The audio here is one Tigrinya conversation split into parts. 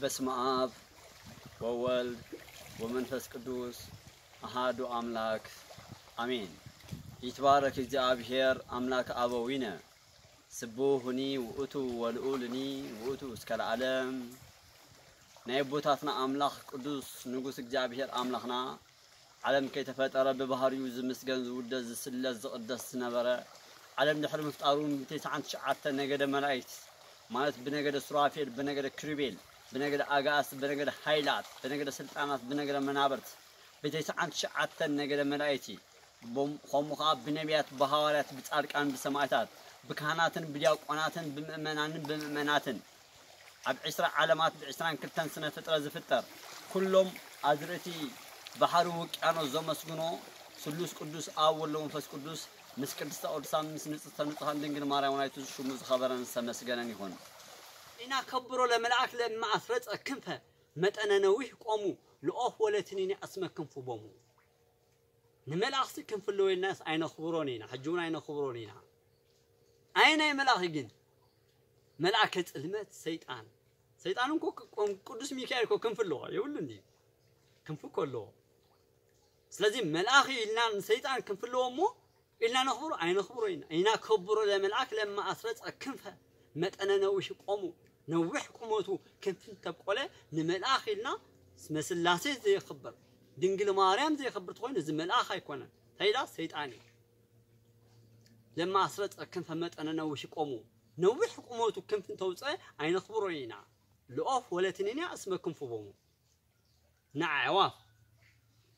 በስመ አብ ወወልድ ወመንፈስ ቅዱስ አሃዱ አምላክ አሜን። ይትባረክ እግዚአብሔር አምላክ አበዊነ ስቡሁኒ ውእቱ ወልዑልኒ ውእቱ እስከ ለዓለም። ናይ ኣቦታትና ኣምላኽ ቅዱስ ንጉስ እግዚኣብሔር ኣምላኽና ዓለም ከይተፈጠረ ብባህሪኡ ዝምስገን ዝውደስ ዝስለስ ዝቕደስ ዝነበረ ዓለም ድሕሪ ምፍጣሩ ብተስዓን ትሽዓተ ነገደ መላእክት ማለት ብነገደ ሱራፌል ብነገደ ክሩቤል ብነገደ ኣጋእስ ብነገደ ሃይላት ብነገደ ስልጣናት ብነገደ መናብርት ብተስዓን ትሽዓተ ነገደ መላእክቲ ከምኡ ከዓ ብነቢያት ብሃዋርያት ብጻድቃን ብሰማዕታት ብካህናትን ብዲያቆናትን ብምእመናንን ብምእመናትን ኣብ ዕስራ ዓለማት ብዕስራን ክልተን ስነ ፍጥረት ዝፍጠር ኩሎም ኣዝርእቲ ባሕሪ ውቅያኖስ ዘመስግኖ ስሉስ ቅዱስ ኣብ ወሎ መንፈስ ቅዱስ ምስ ቅድስተ ቅዱሳን ምስ ንጽሕተ ንጹሓን ድንግል ማርያም ናይቱ ሽሙ ዝኸበረን ዝተመስገነን ይኹን። ኢና ከብሮ ለመልኣክ ለማ ኣስረጸ ክንፈ መጠነ ነዊሕ ቆሙ ልኦፍ ወለትኒኒ ኣስመ ክንፉ ቦሙ። ንመልኣኽሲ ክንፍለወልናስ ኣይነኽብሮን ኢና፣ ሕጂ እውን ኣይነኽብሮን ኢና። ኣይ ናይ መልኣኺ ግን መልኣከ ጽልመት ሰይጣን ሰይጣን እንኮ ቅዱስ ሚካኤል እኮ ክንፍለዎ የብሉ እንዲ ክንፉ እኮ ኣለዎ። ስለዚ መልኣኺ ኢልና ንሰይጣን ክንፍለዎ እሞ ኢልና ነኽብሮ ኣይነኽብሮ ኢና። ኢና ከብሮ ለመልኣክ ለማ ኣስረጸ ክንፈ መጠነ ነዊሕ ቆሙ ነዊሕ ቁመቱ ክንፊ እንተብቆለ ንመልኣኽ ኢልና ስመ ስላሴ ዘየኽብር ድንግል ማርያም ዘየኽብር ተኾይኑ እዚ መልኣኽ ኣይኮነን። እንታይ ኢላ ሰይጣን እዩ። ለማ ኣስረጸ ክንፈ መጠነ ነዊሕ ቆሙ ነዊሕ ቁመቱ ክንፊ እንተውፀ ኣይነኽብሮ ኢና። ልኦፍ ወለትንንያ እስመ ክንፉ ቦሙ ንኣዕዋፍ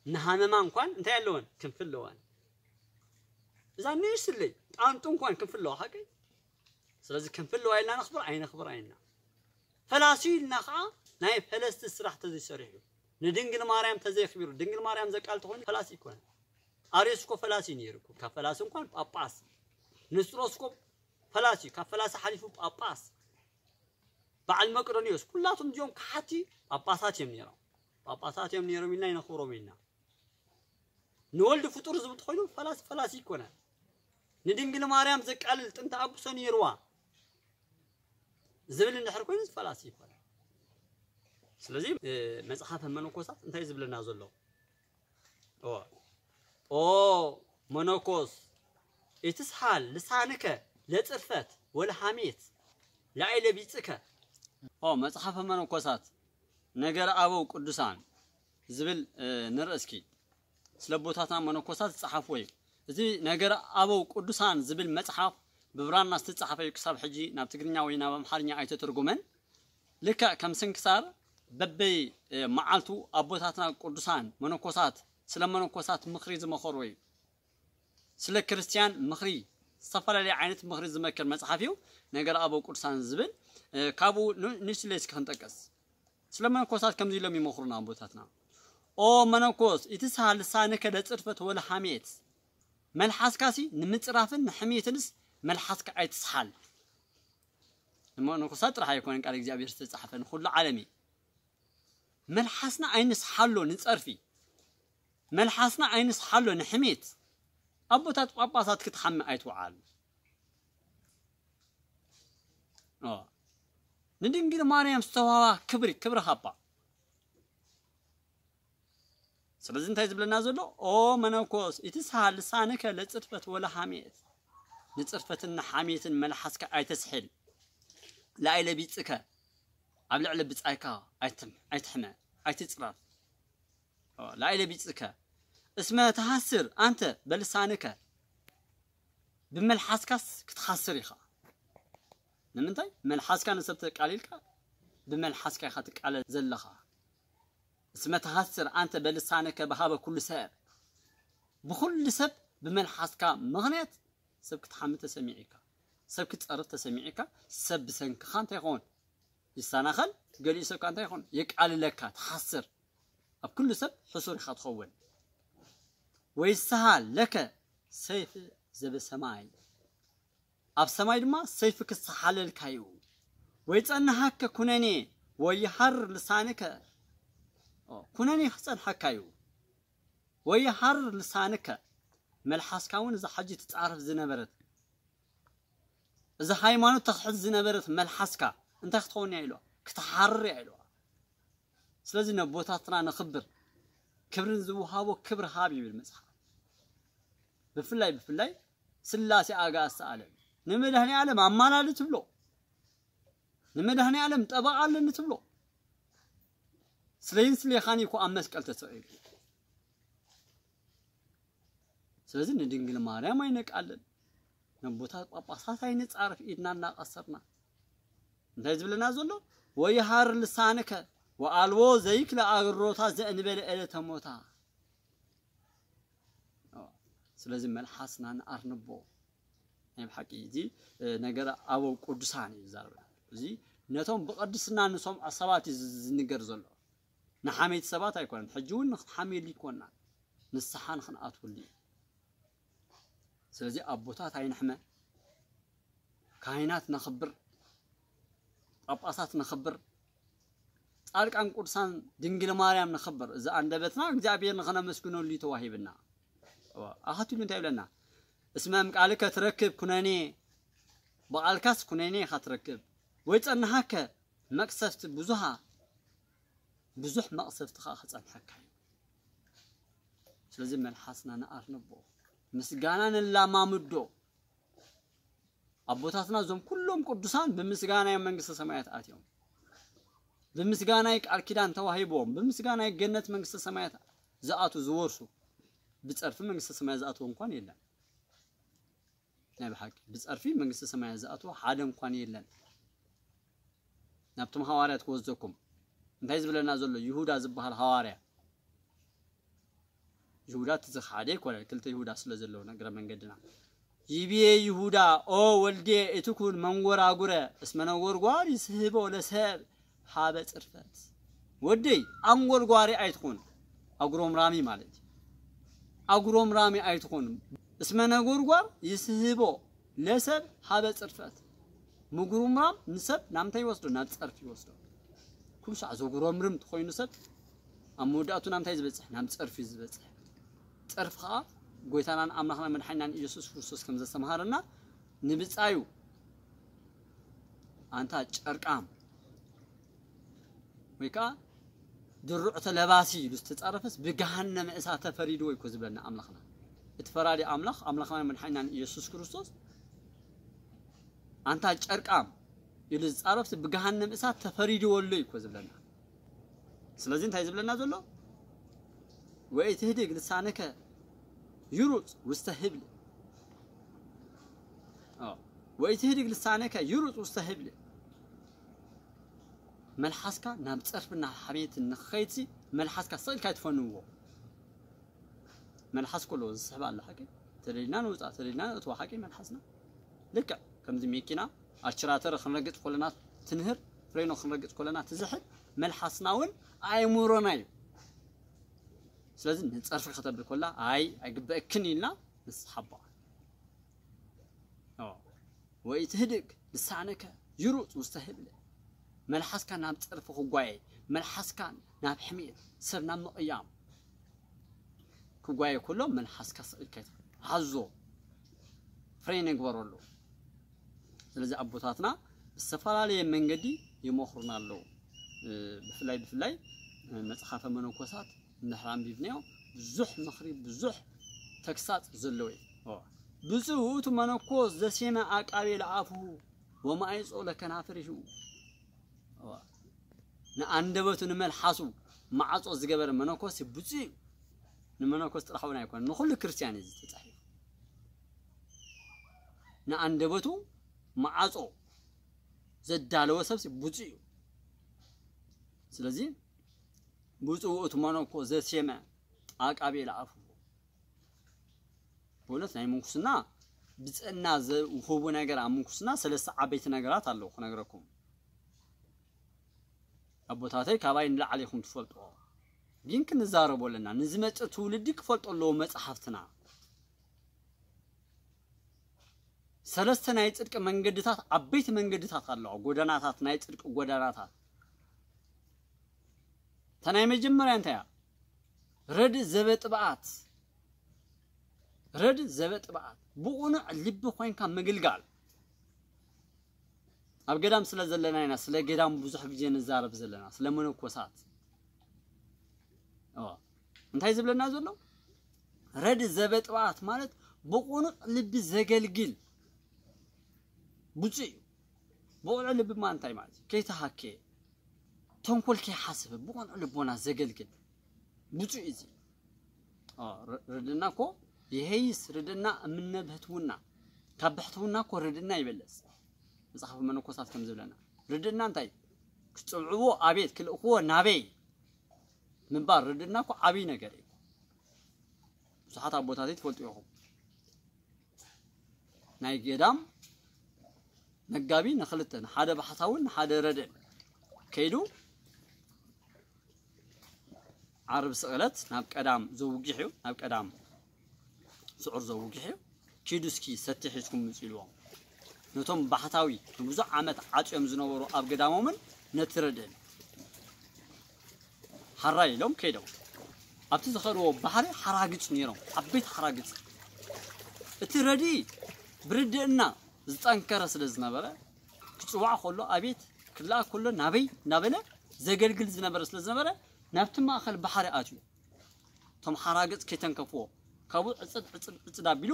ንሃመማ እንኳን እንታይ ኣለወን ክንፊ ኣለወን። እዛ ንእሽትለይ ጣንጡ እንኳን ክንፊ ኣለዋ ሓቀይ። ስለዚ ክንፊ ኣለዋ ኢልና ነኽብር ኣይነኽብር ኣይና ፈላሲ ኢልና ከዓ ናይ ፈለስቲ ስራሕ ተዘይሰሪሑ ንድንግል ማርያም ተዘይኽቢሩ ድንግል ማርያም ዘቃል ተኾይኑ ፈላሲ ይኮነ። ኣርዮስ እኮ ፈላሲ ነይሩ እኮ ካብ ፈላሲ እንኳን ጳጳስ ንስጥሮስ እኮ ፈላሲ ካብ ፈላሲ ሓሊፉ ጳጳስ በዓል መቅዶኒዎስ ኩላቶም እዚኦም ከሓቲ ጳጳሳት እዮም ነይሮም። ጳጳሳት እዮም ነይሮም ኢልና ይነኽብሮም ኢልና ንወልድ ፍጡር ዝብል ተኮይኑ ፈላሲ ፈላሲ ይኮነ። ንድንግል ማርያም ዘቃልል ጥንተ ኣጉሶ ነይርዋ ዝብል እንድሕር ኮይኑ ፈላሲ ይኮነ። ስለዚ መጽሓፈ መነኮሳት እንታይ ዝብለና ዘሎ? ኦ ኦ መነኮስ ኢትስሃል ልሳንከ ለጽርፈት ወለሃሜት ላይለ ቢጽከ። ኦ መጽሓፈ መነኮሳት ነገረ ኣበው ቅዱሳን ዝብል ንርኢ እስኪ። ስለ ኣቦታትና መነኮሳት ዝጸሓፍዎ እዩ። እዚ ነገረ ኣበው ቅዱሳን ዝብል መጽሓፍ ብብራና ዝተጻሕፈ እዩ። ክሳብ ሕጂ ናብ ትግርኛ ወይ ናብ ኣምሓርኛ ኣይተተርጎመን። ልክዕ ከም ስንክሳር በበይ መዓልቱ ኣቦታትና ቅዱሳን መነኮሳት ስለ መነኮሳት ምኽሪ ዝመኸርዎ እዩ። ስለ ክርስትያን ምኽሪ ዝተፈላለየ ዓይነት ምኽሪ ዝመክር መጽሓፍ እዩ። ነገር ኣበው ቅዱሳን ዝብል ካብኡ ንስለ እስኪ ክንጠቅስ። ስለ መነኮሳት ከምዚ ኢሎም ይመኽሩና ኣቦታትና። ኦ መነኮስ ኢትስሃል ልሳንከ ለጽርፈት ወለሃሜት። መልሓስካሲ ንምጽራፍን ንሕሜትንስ መልሓስካ ኣይትስሓል። ንመነኮሳት ጥራሕ ኣይኮነን ቃል እግዚኣብሔር ዝተጻሕፈ ንኹሉ ዓለም እዩ። መልሓስና ኣይንስሓሎ ንጸርፊ። መልሓስና ኣይንስሓሎ ንሕሜት። ኣቦታት ጳጳሳት ክትሓሚ ኣይትውዓል። ንድንግል ማርያም ዝተዋባ ክብሪ ክብሪ ሃባ። ስለዚ እንታይ ዝብለና ዘሎ? ኦ መነኮስ ኢትስሃል ልሳንከ ለጽርፈት ወለሃሜት። ንጽርፈትን ንሓሜትን መልሓስካ ኣይተስሕል። ላይለ ቢጽከ ኣብ ልዕሊ ብጻይካ ኣይትሕመ ኣይትጽረፍ። ላይለ ቢጽከ እስመ ተሃስር ኣንተ በልሳንከ። ብመልሓስካስ ክትሓስር ኢኻ። ንምንታይ? መልሓስካ ንሰብ ተቃሊልካ ብመልሓስካ ኢኻ ትቃለል ዘለኻ። እስመ ተሃስር ኣንተ በልሳንከ በሃበ ኩሉ ሰብ። ብኹሉ ሰብ ብመልሓስካ ምኽንያት ሰብ ክትሓሚ ተሰሚዑ ኢካ። ሰብ ክትጸርፍ ተሰሚዑ ኢካ። ሰብ ብሰንክኻ እንታይ ይኸውን? ይሰናኸል። ገሊኡ ሰብካ እንታይ ይኾን? የቃልለካ፣ ትሓስር። ኣብ ኩሉ ሰብ ሕሱር ኢኻ ትኸውን። ወይስሃ ለከ ሰይፍ ዘበሰማይ። ኣብ ሰማይ ድማ ሰይፍ ክሰሓለልካ እዩ። ወይጸንሃከ ኩነኔ ወይሃር ልሳንከ። ኩነኔ ክጸንሐካ እዩ። ወይሃር ልሳንከ። መልሓስካ እውን እዛ ሕጂ ትጻረፍ ዝነበረት እዛ ሃይማኖት ተኽሕድ ዝነበረት መልሓስካ እንታይ ክትኸውን እያ ኢልዋ? ክትሓርር እያ ኢልዋ። ስለዚ ነቦታትና ነኽብር፣ ክብርን ዝወሃቦ ክብሪ ሃብ ይብል መጽሓፍ። ብፍላይ ብፍላይ ስላሴ ኣጋእዝተ ዓለም ንመድኃኔ ዓለም ኣማላዲ ትብሎ፣ ንመድኃኔ ዓለም ጠበቓ ኣለኒ ትብሎ። ስለይን ስሌኻን እኮ ኣብ መስቀል ተሰቒሉ። ስለዚ ንድንግል ማርያም ኣይነቃልል፣ ነቦታት ጳጳሳት ኣይንጻረፍ፣ ኢድና እናቐሰርና። እንታይ ዝብለና ዘሎ? ወይሃር ልሳንከ ወኣልቦ ዘይክለ ኣግሮታ ዘእንበለ ዕለተ ሞታ። ስለዚ መልሓስና ንኣርንቦ። ናይ ብሓቂ እዚ ነገረ ኣበው ቅዱሳን እዩ ዝዛረበና። እዚ ነቶም ብቐድስና ንሰምዖ ሰባት እዩ ዝንገር ዘሎ። ንሓመይቲ ሰባት ኣይኮነን። ሕጂ እውን ንክንሓምየሉ ይኮና፣ ንስሓ ንክንኣትወሉ እዩ። ስለዚ ኣቦታት ኣይንሕመ፣ ካህናት ነኽብር፣ ጳጳሳት ነኽብር፣ ጻድቃን ቅዱሳን ድንግል ማርያም ነኽብር። እዚ ኣንደበትና እግዚኣብሔር ንኸነመስግነሉ እዩ ተዋሂብና። ኣኸቲሉ እንታይ ይብለና? እስመ እምቃልከ ትረክብ ኩነኔ፣ ብቓልካስ ኩነኔ ኢኻ ትረክብ፣ ወይ ጸንሓከ መቅሰፍቲ ብዙሃ፣ ብዙሕ መቅሰፍቲ ኸዓ ክጸንሐካ እዩ። ስለዚ መልሓስና ንኣርንቦ፣ ምስጋና ነላማምዶ። ኣቦታትና እዞም ኩሎም ቅዱሳን ብምስጋና እዮም መንግስተ ሰማያት ኣትዮም። ብምስጋና እዩ ቃል ኪዳን ተዋሂቦም። ብምስጋና እዩ ገነት መንግስተ ሰማያት ዝኣቱ ዝወርሱ። ብጸርፊ መንግስተ ሰማያት ዝኣትዎ እንኳን የለን። ናይ ብሓቂ ብጸርፊ መንግስተ ሰማያት ዝኣትዎ ሓደ እንኳን የለን። ናብቶም ሃዋርያት ክወስደኩም። እንታይ ዝብለና ዘሎ? ይሁዳ ዝበሃል ሃዋርያ። ይሁዳ እቲ ዝኸሓደ ኣይኮነን፣ ክልተ ይሁዳ ስለ ዘለዉ፣ እግረ መንገድና። ይብዬ ይሁዳ፣ ኦ ወልዴ፣ እቲ ኩን መንጎራጉረ፣ እስመ ነጎርጓር ይስህቦ ለሰብ ሀበ ጽርፈት። ወደይ፣ ኣንጎርጓሪ ኣይትኹን፣ ኣጉረምራሚ ማለት እዩ። ኣጉረምራሚ ኣይትኹን። እስመ ነጎርጓር ይስህቦ ለሰብ ሀበ ጽርፈት። ምጉርምራም ንሰብ ናብ ምንታይ ይወስዶ? ናብ ጸርፊ ይወስዶ። ኩሉ ሳዕ ዘጉረምርም ተኾይኑ ሰብ፣ ኣብ መወዳእቱ ናብ ምንታይ ዝበጽሕ? ናብ ጸርፊ ዝበጽሕ። ጸርፊ ኸዓ ጎይታናን ኣምላኽና መድሓኒናን ኢየሱስ ክርስቶስ ከም ዘስተምሃረና፣ ንብጻዩ ኣንታ ጨርቃም ወይ ከዓ ድሩዕ ተለባሲ ኢሉ ዝተጻረፈስ ብገሃነመ እሳት ተፈሪድዎ እዩ እኮ ዝብለና ኣምላኽና። እቲ ፈራዲ ኣምላኽ፣ ኣምላኽና መድሓኒናን ኢየሱስ ክርስቶስ፣ ኣንታ ጨርቃም ኢሉ ዝጻረፍስ ብገሃነመ እሳት ተፈሪድዎ ኣሎ እዩ እኮ ዝብለና። ስለዚ እንታይ ዝብለና ዘሎ? ወኢትህድግ ልሳነከ ይሩጽ ውስተ ህብል። ኣዎ። ወኢትህድግ ልሳነከ ይሩጽ ውስተ ህብል። መልሓስካ ናብ ጸርፍና ሓሜት ንኸይድሲ፣ መልሓስካ ስቕ ኢልካ ኣይትፈንዎ። መልሓስ ከሎ ዝስሕብ ኣሎ ሓቂ። ተደሊና ንውጻእ፣ ተደሊና ንእትዎ ሓቂ መልሓስና። ልክዕ ከምዚ መኪና ኣችራተር ክንረግጽ ከለና ትንህር፣ ፍሬኖ ክንረግጽ ከለና ትዝሕል፣ መልሓስና እውን ኣእምሮና እዩ። ስለዚ ንጸርፊ ከተብል ከላ፣ ኣይ፣ ኣይግበእክን ኢልና ንስሓባ። ኣዎ። ወኢትህድግ ልሳነከ ይሩጽ ውስተ ህብል። መልሓስካ ናብ ጸርፊ ክጓየ፣ መልሓስካ ናብ ሕሜት፣ ሰብ ናብ ምቕያም ክጓየ ከሎ፣ መልሓስካ ስቕ ኢልካ ኣይትኸድ። ሓዞ፣ ፍሬን ይግበረሉ። ስለዚ ኣቦታትና ብዝተፈላለየ መንገዲ ይመኽሩና ኣለዉ። እ፣ ብፍላይ፣ ብፍላይ፣ እ፣ መጽሓፈ መነኮሳት እንድሕር ኣንቢብናዮ፣ ብዙሕ ምኽሪ፣ ብዙሕ ተግሳጽ ዘለዎ እዩ። ኦ፣ ብፁዕ ውእቱ መነኮስ ዘሴመ ኣቃቤ ለኣፉሁ ወማይጾ ለከናፍሪሁ። ኦ፣ ንኣንደበቱ ንመልሓሱ ማዕጾ ዝገበረ መነኮስ ብፁዕ እዩ። ንመነኮስ ጥራሕ እውን ኣይኮነን፣ ንኹሉ ክርስትያን እዩ ዝተጻሒፉ። ንኣንደበቱ ማዕጾ ዘዳለወ ሰብሲ ብፁዕ እዩ። ስለዚ ብፁዕ ውእቱ መነኮስ ዘሴመ ኣቃቤ ለኣፉሁ። በእውነት ናይ ምንኩስና ብፅዕና ዝውህቡ ነገር ኣብ ምንኩስና ሰለስተ ዓበይቲ ነገራት ኣለዉ ክነግረኩም። ኣቦታተይ ካባይ ንላዕሊ ኢኹም ትፈልጥዎ፣ ግን ክንዛረቦ ኣለና። ንዝመፅእ ትውልዲ ክፈልጦ ኣለዎ መፅሓፍትና። ሰለስተ ናይ ጽድቂ መንገድታት፣ ዓበይቲ መንገድታት ኣለዋ፣ ጎዳናታት፣ ናይ ጽድቂ ጎዳናታት። እታ ናይ መጀመርያ እንታይ እያ? ረድእ ዘበጥብኣት። ረድእ ዘበጥብኣት። ብቕኑዕ ልቢ ኮይንካ ምግልጋል። ኣብ ገዳም ስለ ዘለና ኢና ስለ ገዳም ብዙሕ ግዜ ንዛረብ ዘለና፣ ስለ መነኮሳት። እንታይ ዝብለና ዘሎ? ረድ ዘበጥባት ማለት ብቁኑዕ ልቢ ዘገልግል ብፁዕ እዩ። ብቁኑዕ ልቢ ማለት እንታይ ማለት እዩ? ከይተሃከየ፣ ተንኮል ከይሓሰበ ብቁኑዕ ልቦና ዘገልግል ብፁዕ እዩ። ርድእና እኮ የሄይስ ርድእና እምነ ብሕትውና፣ ካብ ብሕትውና እኮ ርድእና ይበለጽ። መጽሓፍ መነኮሳት ከም ዝብለና፣ ርድእና እንታይ? ክጽውዕዎ ኣቤት፣ ክልእክዎ ናበይ ምባል ርድእና እኮ ዓብይ ነገር እዩ። ብዙሓት ኣቦታት ትፈልጡ ኢኹም። ናይ ገዳም መጋቢ ንኽልተ፣ ንሓደ ባሕታውን ንሓደ ረድእን ከይዱ ዓርብ ስቕለት ናብ ቀዳም ዘውግሕ እዩ፣ ናብ ቀዳም ስዑር ዘውግሕ እዩ። ኪዱ እስኪ ሰቲ ሒዝኩም ምጹ ኢልዎም። ነቶም ባሕታዊ ንብዙሕ ዓመት ዓጽዮም ዝነበሩ ኣብ ገዳሞምን ነቲ ረድእን ሓራይ ኢሎም ከይዶም። ኣብቲ ዝኸድዎ ባሕሪ ሓራግጽ ነይሮም፣ ዓበይቲ ሓራግጽ። እቲ ረድኢ ብርድእና ዝጠንከረ ስለ ዝነበረ፣ ክጽዋዕ ከሎ ኣቤት፣ ክለኣክ ከሎ ናበይ እናበለ ዘገልግል ዝነበረ ስለ ዝነበረ፣ ናብቲ ማእከል ባሕሪ ኣትዩ። እቶም ሓራግጽ ከይተንከፍዎ፣ ካብኡ ዕጽድ፣ ዕጽድ፣ ዕጽድ ኣቢሉ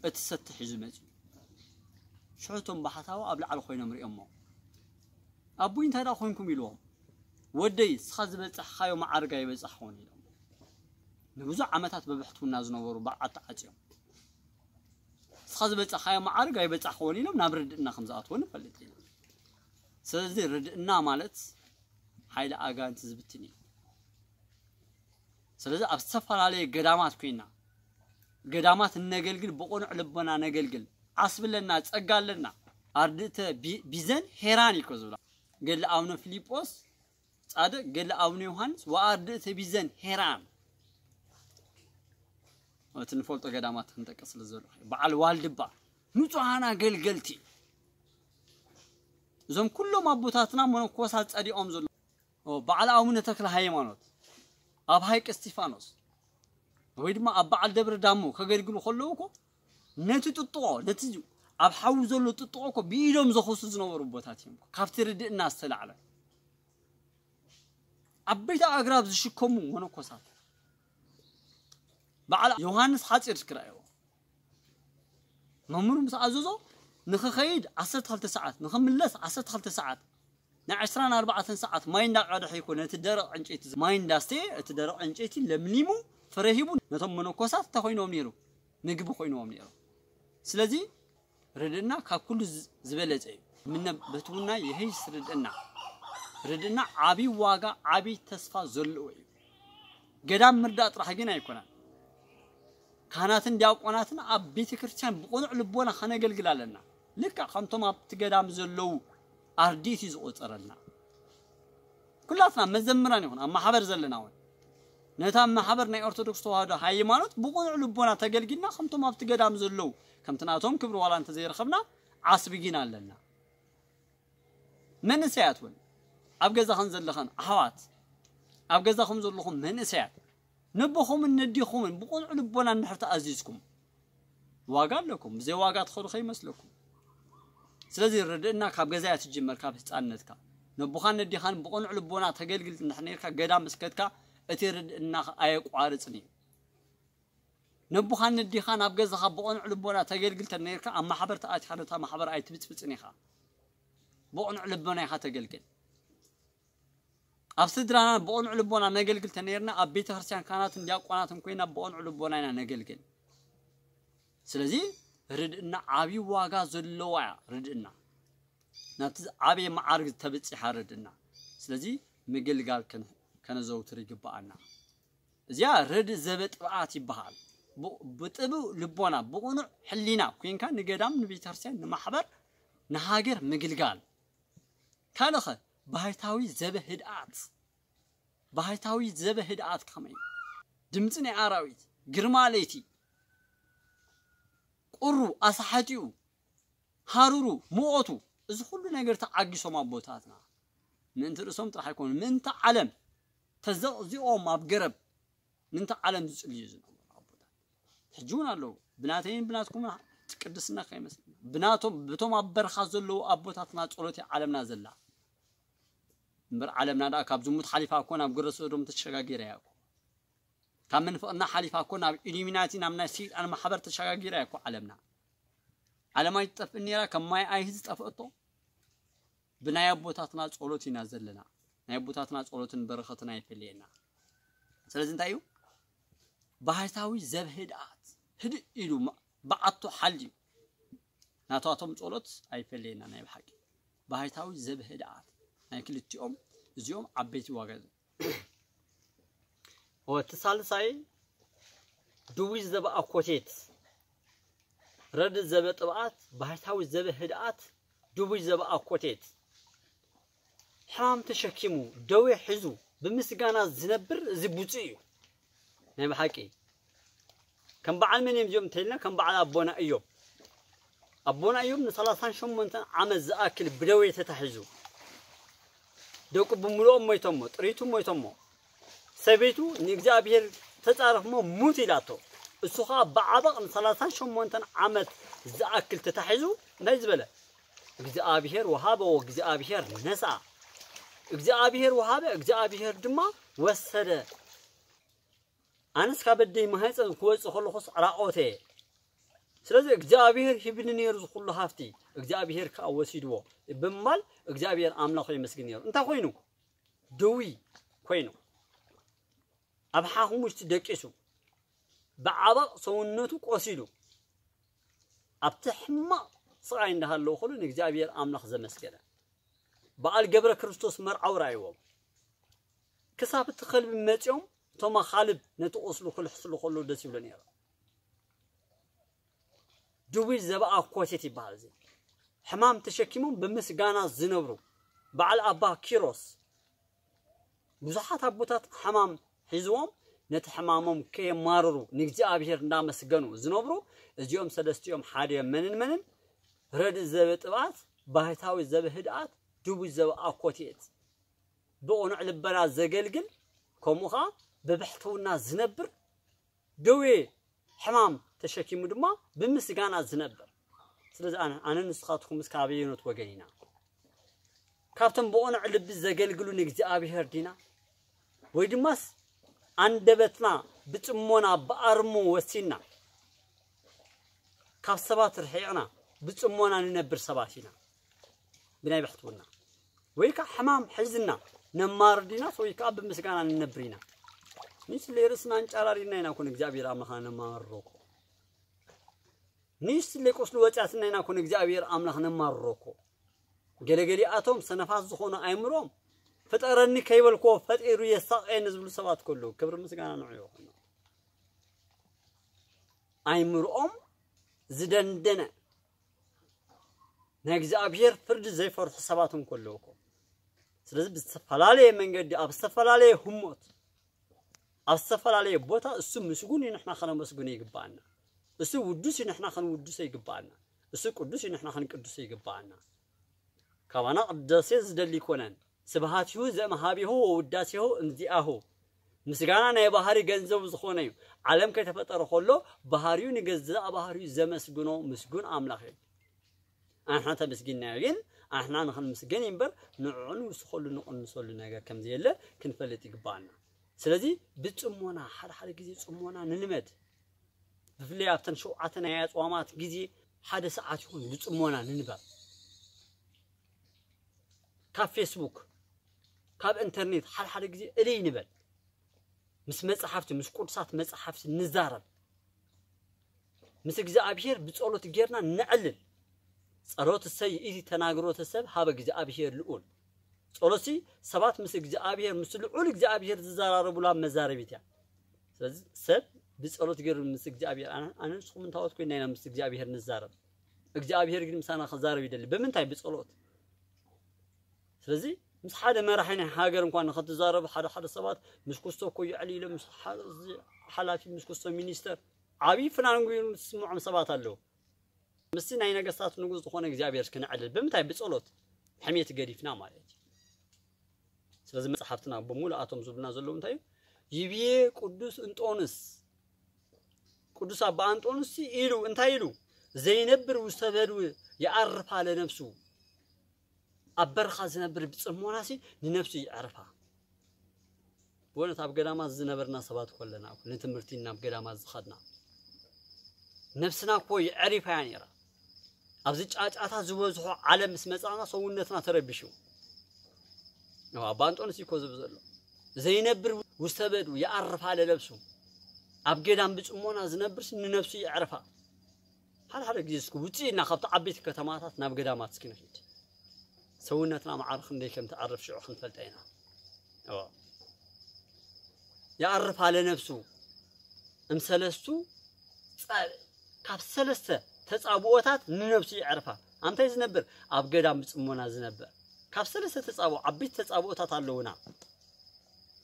እቲ ሰቲ ሒዙ መጺኡ። ሽዑ እቶም ባሕታዊ ኣብ ላዕሊ ኮይኖም ሪኦሞ። ኣቦይ እንታይ ደኣ ኮንኩም ኢልዎም። ወደይ፣ ንስኻ ዝበጻሕካዮ መዓርግ ኣይበጻሕክዎን ኢሎም። ንብዙሕ ዓመታት ብብሕትውና ዝነበሩ በዓል ተዓጽዮም። ንስኻ ዝበጻሕካዮ መዓርግ ኣይበጻሕክዎን ኢሎም ናብ ርድእና ከም ዝኣትዎ ንፈልጥ ኢና። ስለዚ ርድእና ማለት ሓይሊ ኣጋንንቲ ዝብትን እዩ። ስለዚ ኣብ ዝተፈላለየ ገዳማት ኮይና፣ ገዳማት እነገልግል፣ ብቕኑዕ ልቦና ነገልግል። ዓስቢ ኣለና፣ ጸጋ ኣለና። ኣርድእተ ቢ-፣ ቢዘን ሄራን እዩ እኮ ዝብላ። ገድሊ ኣቡነ ፊልጶስ ጻድቕ፣ ገድሊ ኣቡነ ዮሃንስ፣ ወኣርድእተ ቢዘን ሄራን። እቲ ንፈልጦ ገዳማት ክንጠቅስ ስለ ዘሎ፣ በዓል ዋልድባ፣ ንጹሃን ኣገልገልቲ። እዞም ኩሎም ኣቦታትና መነኮሳት ጸዲቖም ዘሎ፣ ኦ፣ በዓል ኣቡነ ተክለ ሃይማኖት ኣብ ሃይቅ እስጢፋኖስ ወይ ድማ ኣብ በዓል ደብረ ዳሞ ከገልግሉ ከለዉ እኮ ነቲ ጥጥቖ፣ ነቲ ኣብ ሓዊ ዘሎ ጥጥቖ እኮ ብኢዶም ዘኸሱ ዝነበሩ ኣቦታት እዮም። ካብቲ ርድእና ዝተላዕለ ዓበይቲ ኣግራብ ዝሽከሙ መነኮሳት። በዓል ዮሃንስ ሓጺር ክረኣይዎ። መምህሩ ምስ ኣዘዞ ንኽኸይድ ዓሰርተ ክልተ ሰዓት፣ ንኽምለስ ዓሰርተ ክልተ ሰዓት፣ ናይ ዕስራን ኣርባዕተን ሰዓት ማይ እንዳቐድሐ ይኮ ነቲ ደረቕ ዕንጨይቲ ማይ እንዳስተየ፣ እቲ ደረቕ ዕንጨይቲ ለምሊሙ ፍረ ሂቡ ነቶም መነኮሳት እንታይ ኮይኖም ነይሩ? ምግቢ ኮይኖም ነይሩ። ስለዚ ርድእና ካብ ኩሉ ዝ-፣ ዝበለጸ እዩ። ምነ በትውና የህይስ ርድእና። ርድእና ዓቢ ዋጋ፣ ዓቢ ተስፋ ዘለዎ እዩ። ገዳም ምርዳእ ጥራሕ ግን ኣይኮነን። ካህናትን ዲያቆናትን ኣብ ቤተ ክርስቲያን ብቕኑዕ ልቦና ከነገልግል ኣለና። ልክዕ ከምቶም ኣብቲ ገዳም ዘለዉ ኣርዲት እዩ ዝቖጸረልና። ኩላትና መዘምራን ይኹን ኣብ ማሕበር ዘለና እውን ነታ ማሕበር ናይ ኦርቶዶክስ ተዋህዶ ሃይማኖት ብቕኑዕ ልቦና ተገልጊልና ከምቶም ኣብቲ ገዳም ዘለዉ ከምቲ ናቶም ክብሪ ዋላ እንተዘይረኸብና ዓስቢ ግን ኣለና። መንእሰያት እውን ኣብ ገዛኸን ዘለኸን ኣሕዋት፣ ኣብ ገዛኹም ዘለኹም መንእሰያት ነቦኹምን ነዲኹምን ብቕኑዕ ልቦና እንድሕር ተኣዚዝኩም ዋጋ ኣለኩም። ብዘይ ዋጋ ትኸዱ ከይመስለኩም። ስለዚ ርድእና ካብ ገዛ እያ ትጅመር፣ ካብ ህፃንነትካ። ነቦኻን ነዲኻን ብቕኑዕ ልቦና ተገልግል እንድሕር ነርካ፣ ገዳም እስከትካ እቲ ርድእና ኣየቋርፅን እዩ። ነቦኻን ነዲኻን ኣብ ገዛኻ ብቕኑዕ ልቦና ተገልግል ተነርካ፣ ኣብ ማሕበር ተኣቲኻ ነታ ማሕበር ኣይትብፅብፅን ኢኻ። ብቕኑዕ ልቦና ኢኻ ተገልግል። ኣብ ስድራና ብቕኑዕ ልቦና ነገልግል ተነርና፣ ኣብ ቤተ ክርስቲያን ካህናትን ዲያቆናትን ኮይና ብቕኑዕ ልቦና ኢና ነገልግል። ስለዚ ርድእና ዓብዪ ዋጋ ዘለዋ እያ። ርድእና ናብቲ ዓብዪ መዓርግ ተብፅሓ ርድእና። ስለዚ ምግልጋል ከነ-፣ ከነዘውትር ይግብኣና። እዚኣ ርድእ ዘበጥብኣት ይበሃል። ብ-፣ ብጥብእ ልቦና፣ ብቕኑዕ ሕሊና ኮይንካ ንገዳም፣ ንቤተክርስትያን፣ ንማሕበር፣ ንሃገር ምግልጋል። ካልኸ ባህታዊ ዘበ ህድኣት። ባህታዊ ዘበ ህድኣት ከመይ? ድምፂ ናይ ኣራዊት፣ ግርማ ለይቲ፣ ቁሩ፣ ኣሳሓቲኡ፣ ሃሩሩ፣ ሙቐቱ፣ እዚ ኩሉ ነገር ተዓጊሶም ኣቦታትና። ምእንቲ ርእሶም ጥራሕ ኣይኮኑን፣ ምእንቲ ዓለም ተዘቕዚቖም ኣብ ገረብ ምእንቲ ዓለም ዝጽልዩ ዝነበሩ ኣቦታት ሕጂ እውን ኣለዉ። ብናተይን ብናትኩምን ቅድስና ከይመስለና። ብናቶም፣ ብቶም ኣብ በረኻ ዘለዉ ኣቦታትና ጸሎት እያ ዓለምና ዘላ። እምበር ዓለምና ደኣ ካብ ዝሙት ሓሊፋ እኮ ናብ ግብረ ሰዶም ተሸጋጊራ እያ እኮ። ካብ ምንፍቕና ሓሊፋ እኮ ናብ ኢሉሚናቲ፣ ናብ ናይ ሰይጣን ማሕበር ተሸጋጊራ እያ እኮ ዓለምና። ዓለም ኣይትጠፍእን ነይራ፣ ከም ማይ ኣይሂ ዝጠፍእቶ። ብናይ ኣቦታትና ጸሎት ኢና ዘለና። ናይ ኣቦታትና ጸሎትን በረኸትን ኣይፈለየና። ስለዚ እንታይ እዩ? ባህታዊ ዘብህድኣት፣ ህድእ ኢሉ፣ ማ- ብዓቱ ሓልዩ፣ ናታቶም ጸሎት ኣይፈለየና። ናይ ብሓቂ ባህታዊ ዘብህድኣት ናይ ክልቲኦም፣ እዚኦም ዓበይቲ ዋጋ እዮም። እቲ ሳልሳይ፣ ድውይ ዘበኣኮቴት፣ ረድእ ዘበጥብኣት፣ ባህታዊ ዘበህድኣት፣ ድውይ ዘበኣኮቴት፣ ሕማም ተሸኪሙ፣ ደዌ ሒዙ፣ ብምስጋና ዝነብር፣ እዚ ብፁዕ እዩ። ናይ ብሓቂ ከም በዓል መን እዮም እዚኦም እንተኢልና፣ ከም በዓል ኣቦና እዮም። ኣቦና እዮም ንሰላሳን ሸሞንተን ዓመት ዝኣክል ብደዌ ተታሒዙ፣ ደቁ ብምልኦም ሞይቶሞ፣ ጥሪቱ ሞይቶሞ፣ ሰበይቱ ንእግዚኣብሔር ተጻረፍሞ፣ ሙት ኢላቶ። እሱ ኸኣ ብዓበቕ ንሰላሳን ሸሞንተን ዓመት ዝኣክል ተታሒዙ እንታይ ዝበለ? እግዚኣብሔር ወሃበ ወእግዚኣብሔር ነስኣ። እግዚኣብሔር ወሃበ፣ እግዚኣብሔር ድማ ወሰደ። ኣነስ ካብ ኣደይ ማህፀን ክወፅእ ከለኹስ ዕራቆተ እየ። ስለዚ እግዚኣብሔር ሂብኒ ነይሩ ዝኹሉ ሃፍቲ፣ እግዚኣብሔር ከዓ ወሲድዎ ብምባል እግዚኣብሔር ኣምላኹ የመስግን ነይሩ። እንታይ ኮይኑ? ድዊ ኮይኑ፣ ኣብ ሓኹም ውሽጢ ደቂሱ፣ ብዓበቕ ሰውነቱ ቆሲሉ፣ ኣብቲ ሕማቕ ስቓይ እንዳሃለወ ከሎ ንእግዚኣብሔር ኣምላኽ ዘመስገነ። በዓል ገብረ ክርስቶስ መርዓዊ ረኣይዎም። ክሳብ እቲ ከልቢ መጺኦም፣ እቶም ኣኻልብ ነቲ ቁስሉ ክልሕስሉ ከሎ ደስ ይብሎ ነይሩ። ድውይ ዘበኣ ኮሴት ይበሃል። እዚ ሕማም ተሸኪሞም ብምስጋና ዝነብሩ በዓል ኣባ ኪሮስ። ብዙሓት ኣቦታት ሕማም ሒዝዎም ነቲ ሕማሞም ከየማርሩ ንእግዚኣብሔር እንዳመስገኑ ዝነብሩ፣ እዚኦም ሰለስቲኦም ሓደ እዮም። መንን መንን? ረድእ ዘበጥባት፣ ባህታዊ ዘበህድኣት፣ ድውይ ዘበኣኮቴት። ብቕኑዕ ልበና ዘገልግል፣ ከምኡ ኸዓ ብብሕትውና ዝነብር፣ ደዌ ሕማም ተሸኪሙ ድማ ብምስጋና ዝነብር። ስለዚ ኣነ፣ ኣነ ንስኻትኩምስ ካበየኖት ወገን ኢና? ካብቶም ብቕኑዕ ልቢ ዘገልግሉ ንእግዚኣብሔር ዲና? ወይ ድማስ ኣንደበትና ብጽሞና ብኣርሞ ወሲና፣ ካብ ሰባት ርሒቕና ብጽሞና ንነብር ሰባት ኢና? ብናይ ብሕትውና ወይ ከዓ ሕማም ሕዝና ነማርር ዲናስ ወይ ከዓ ብምስጋና ንነብር ኢና? ንስለ ርእስና እንጫራሪና ኢና ኮን እግዚኣብሔር ኣምላኽና ነማርሮ እኮ። ንስለ ቁስሉ ወፂኣትና ኢና ኮን እግዚኣብሔር ኣምላኽ ነማርሮ እኮ። ገለገሊኣቶም ሰነፋት ዝኾኑ ኣእምሮም፣ "ፍጠረኒ ከይበልክዎ ፈጢሩ የሳቕየኒ" ዝብሉ ሰባት ከለዉ፣ ክብሪ ምስጋና ንዑ ይኹን። ኣእምሮኦም ዝደንደነ፣ ናይ እግዚኣብሔር ፍርዲ ዘይፈርሑ ሰባት እንከለዉ እኮ። ስለዚ ብዝተፈላለየ መንገዲ፣ ኣብ ዝተፈላለየ ህሞት፣ ኣብ ዝተፈላለየ ቦታ እሱ ምስጉን እዩ፣ ንሕና ከነመስግኖ ይግባኣና። እሱ ውዱስ እዩ፣ ንሕና ከንውድሶ ይግባኣና። እሱ ቅዱስ እዩ፣ ንሕና ከንቅድሶ ይግባኣና። ካባና ቅዳሴ ዝደሊ ኣይኮነን። ስብሐቲሁ ዘእምሃቢሁ ወውዳሴሁ እንዚኣሁ። ምስጋና ናይ ባህሪ ገንዘቡ ዝኾነ እዩ። ዓለም ከይተፈጠረ ከሎ ባህሪኡ ንገዛእ ባህሪኡ ዘመስግኖ ምስጉን ኣምላኽ እዩ። ኣንሕና ተመስጊንናዮ ግን ኣንሕና ንኽንምስገን እዩ እምበር ንዕዑ ንውስኸሉ ንቕንሰሉ ነገር ከም ዘየለ ክንፈልጥ ይግባኣና። ስለዚ ብጽሞና፣ ሓደ ሓደ ግዜ ጽሞና ንልመድ። ብፍላይ ኣብተን ሸውዓተ ናይ ኣጽዋማት ግዜ ሓደ ሰዓት ይኹን ብጽሞና ንንበር። ካብ ፌስቡክ፣ ካብ ኢንተርኔት ሓደ ሓደ ግዜ እልይ ንበል። ምስ መጻሕፍቲ፣ ምስ ቅዱሳት መጻሕፍቲ ንዛረብ። ምስ እግዚኣብሔር ብጸሎት ጌርና ነዕልል። ጸሎትሰ ይእቲ ተናግሮተ ሰብ ሀበ እግዚኣብሔር ልዑል። ጸሎትሲ ሰባት ምስ እግዚኣብሔር፣ ምስ ልዑል እግዚኣብሔር ዝዘራረቡላ መዛረቢት እያ። ስለዚ ሰብ ብጸሎት ገይሩ ምስ እግዚኣብሔር፣ ኣነ፣ ኣነ ንስኹም እንታወት ኮይና ኢና ምስ እግዚኣብሔር ንዛረብ። እግዚኣብሔር ግን ምሳና ክዛረብ ይደሊ። ብምንታይ? ብጸሎት። ስለዚ ምስ ሓደ መራሒ ናይ ሃገር እንኳን ንኽትዛረቡ፣ ሓደ ሓደ ሰባት ምስ ኩስቶ እኮ ይዕል ኢሎም፣ ምስ ሓደ እዚ ሓላፊ፣ ምስ ኩስቶ ሚኒስተር፣ ዓብዪ ፍናን ገይሩ ዝስምዖም ሰባት ኣለዉ። ምስቲ ናይ ነገስታት ንጉስ ዝኾነ እግዚኣብሔር ክንዕልል ብምንታይ? ብጸሎት። ሕሜት ገዲፍና ማለት እዩ። ስለዚ መጽሓፍትና ብምሉኣቶም ዝብሉና ዘለዉ እንታይ እዩ? ይብዬ ቅዱስ እንጦንስ፣ ቅዱስ ኣባ እንጦንስ ኢሉ እንታይ ኢሉ? ዘይነብር ውስተ በድው የዐርፋ ለነፍሱ። ኣብ በረኻ ዝነብር ብጽሞናሲ ንነፍሱ የዕርፋ። በእውነት ኣብ ገዳማት ዝነበርና ሰባት ኮለና እኮ ንትምህርቲ ናብ ገዳማት ዝኸድና ነብስና እኮ የዕሪፋ እያ ነይራ። ኣብዚ ጫጫታ ዝበዝሖ ዓለም ምስ መጻና ሰውነትና ተረቢሹ። ያው ኣባ እንጦንስ እኮ ዝብል ዘሎ ዘይነብር ውስተ በዱ የዕርፍ አለ ነብሱ። ኣብ ገዳም ብጽሞና ዝነብርስ ንነብሱ የዕርፋ። ሓደ ሓደ ግዜ እስኪ ውጽእ ኢልና ካብቲ ዓበይቲ ከተማታት ናብ ገዳማት እስኪ ንኺድ። ሰውነትና ማዕረ ክንደይ ከም ትዓርፍ ሽዑ ክንፈልጣ ኢና። እዎ። የዕርፍ አለ ነብሱ እምሰለስቱ ጸ- ካብ ሰለስተ ተጻብኦታት ንነብሱ የዕርፋ። ኣምታይ ዝነብር ኣብ ገዳም ብጽሞና ዝነብር ካብ ሰለስተ ተጻብኦ ዓበይቲ ተጻብኦታት ኣለውና።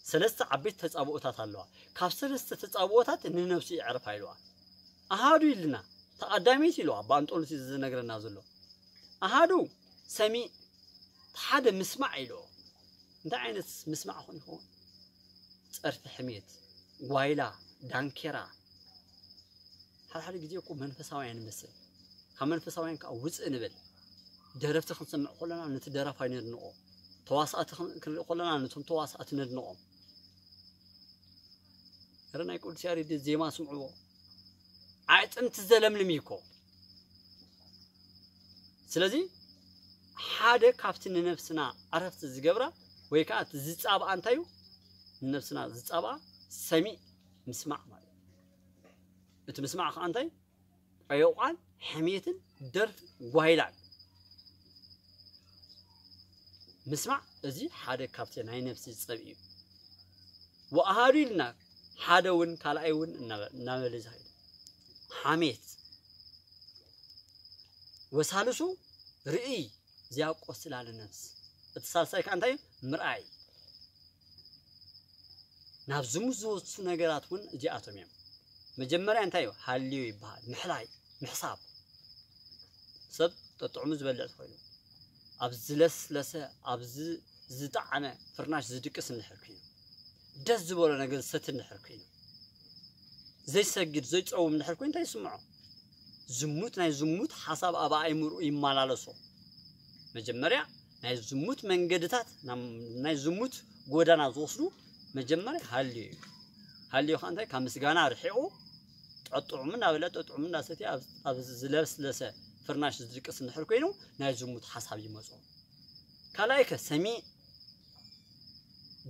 ሰለስተ ዓበይቲ ተጻብኦታት ኣለዋ። ካብ ሰለስተ ተጻብኦታት ንነብሱ የዕርፋ ኢልዋ። ኣሃዱ ኢልና ተቐዳሚት ኢልዋ ኣባ እንጦንስ እዩ ዝነግረና ዘሎ። ኣሃዱ ሰሚዕ ሓደ ምስማዕ ኢልዎ። እንታይ ዓይነት ምስማዕ ኾን ይኸውን? ጸርፊ ሕሜት፣ ጓይላ፣ ዳንኬራ። ሓደ ሓደ ግዜ እኮ መንፈሳውያን ንመስል። ካብ መንፈሳውያን ከዓ ውፅእ ንብል። ደረፍቲ ክንሰምዕ ከለና ነቲ ደራፋይ ነድንቖ። ተዋሳእቲ ክን- ክንርኢ ከለና ነቶም ተዋሳእቲ ነድንቖም። ረ ናይ ቅዱስ ያሬድ ዜማ ስምዕዎ። ኣዕፅምቲ ዘለምልም እዩ እኮ። ስለዚ ሓደ ካብቲ ንነብስና ዕረፍቲ ዝገብራ ወይ ከዓ እቲ ዝፃብኣ እንታይ እዩ? ንነብስና ዝፃብኣ ሰሚዕ ምስማዕ ማለት እዩ። እቲ ምስማዕ ከዓ እንታይ? ዕዮቋን ሕሜትን ደርፍን ጓይላን ምስማዕ፣ እዚ ሓደ ካብቲ ናይ ነብሲ ፀብኢ እዩ። ወኣሃዱ ኢልና ሓደ እውን ካልኣይ እውን እናበ- እናበለ ዝኸይድ ሓሜት። ወሳልሱ ርእይ ዚያቆስላ ለነፍስ። እቲ ሳልሳይ ከዓ እንታይ እዩ? ምርኣይ። ናብ ዝሙት ዝወስዱ ነገራት እውን እዚኣቶም እዮም። መጀመርያ እንታይ እዩ? ሃልዮ ይበሃል። ምሕላይ፣ ምሕሳብ። ሰብ ጠጥዕሙ ዝበልዕ ተኾይኑ ኣብ ዝለስለሰ ኣብ ዝ- ዝጠዓመ ፍርናሽ ዝድቅስ እንድሕር ኮይኑ፣ ደስ ዝበሎ ነገር ዝሰቲ እንድሕር ኮይኑ፣ ዘይሰግድ ዘይፀውም እንድሕር ኮይኑ እንታይ ይስምዖ? ዝሙት ናይ ዝሙት ሓሳብ ኣብ ኣእምርኡ ይመላለሶ። መጀመርያ ናይ ዝሙት መንገድታት ናብ ናይ ዝሙት ጎዳና ዝወስዱ መጀመርያ ሃልዮ እዩ። ሃልዮ ከዓ እንታይ? ካብ ምስጋና ርሒቑ ጠጥዑሙ እናበለ ጠጥዑሙ እናሰትየ ኣብ- ኣብ ዝለስለሰ ፍርናሽ ዝድቅስ እንድሕር ኮይኑ ናይ ዝሙት ሓሳብ ይመፅኦ። ካልኣይ ከ ሰሚዕ